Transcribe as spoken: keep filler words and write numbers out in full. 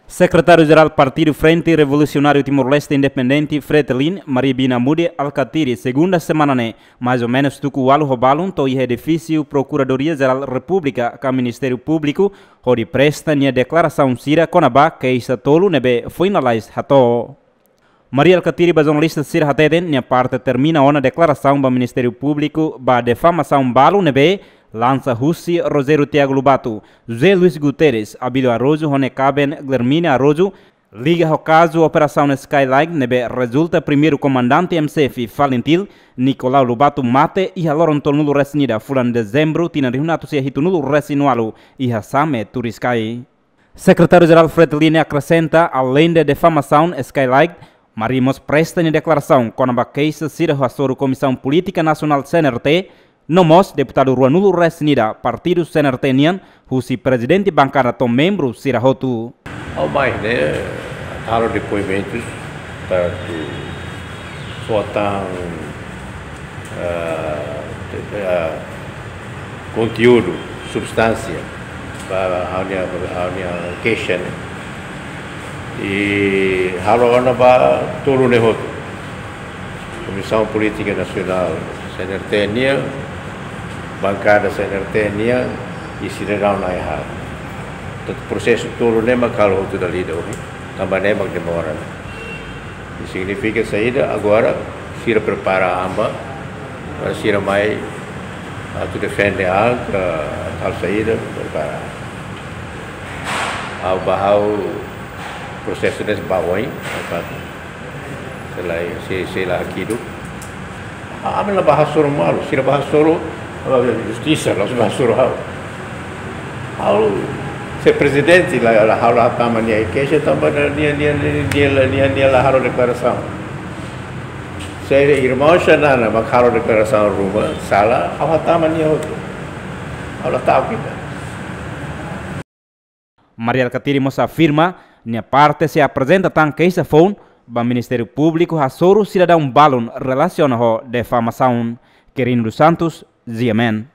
Sekretáriu-Jerál Partidu Frente Revolusionáriu Timor-Leste Independente, Fretilin, Maria Bina Mude Alkatiri, segunda semana ne'e, mais ou menus tuku ualu ho balun, to'o iha edifísiu Prokuradoria-Jerál Repúblika ka Ministériu Públiku, hodi presta nia deklarasaun sira kona-ba keixa tolu ne'ebé foin lalais hato'o. Maria Alkatiri ba jornalista sira hateten, nia parte termina ona deklarasaun ba Ministériu Públiku ba difamasaun balu ne'ebé lansa husi Rogério Tiago Lobato, José Luis Guterres, Abílio Araújo ho nia kaben Guilhermina Araújo, liga ho kazu Operasaun Skylight ne'ebé rezulta primeiru komandante M C F Falintil, Nicolau Lobato mate iha loron tolunulu-resin-ida fulan Dezembru tinan rihun atus sia hitunulu-resin-ualu iha Same, Turiscai. Sekretáriu-Jerál Fretilin akresenta, aleinde difamasaun Skylight, Maria mós presta nia deklarasaun kona-ba keixa sira hasoru Komisaun Polítika Nasionál C N R T, no mós deputadu ruanulu-resin-ida partidu C N R T nian, husi prezidente bankada to'o membru sira hotu. Ha'u mai ne'e, halo depoimentus, tantu fó tan, ah, te-, ah, konteúdu, substánsia, ba ha'u-nia, ha'u-nia keixa ne'e. I halo ona ba tolu ne'e hotu. Komisaun Polítika Nasionál C N R T nian, bankada C N R T nian, i sidadaun na'in-haat. Tantu prosesu tolu ne'e mak halo hotu dala ida ohin, tanba ne'e mak demora. I signifika saida, agora sira prepara an ba, para sira mai atu defende an ka halo saida, prepara. Ha'u ba ha'u prosesu ne'e ba oin, apa? Selae, se, sei la hakiduk. Ah, ami la ba hasoru malu, sira ba hasoru, ah, justisa, la ba hasoru ha'u. Ha'u, se prezidente la, la ha'u la hatama nia keixa, tanba nia, nia, nia, nia, nia, nia, nia la halo deklarasaun. Se irmaun Xanana mak halo deklarasaun ruma, sala, ha'u hatama nia hotu. Ha'u la ta'uk ida. Maria Alkatiri mós afirma, nia parte sei aprezenta tan keixa foun ba Ministériu Públiku hasoru sidadaun balun relasiona ho difamasaun. Quirino dos Santos, G M N.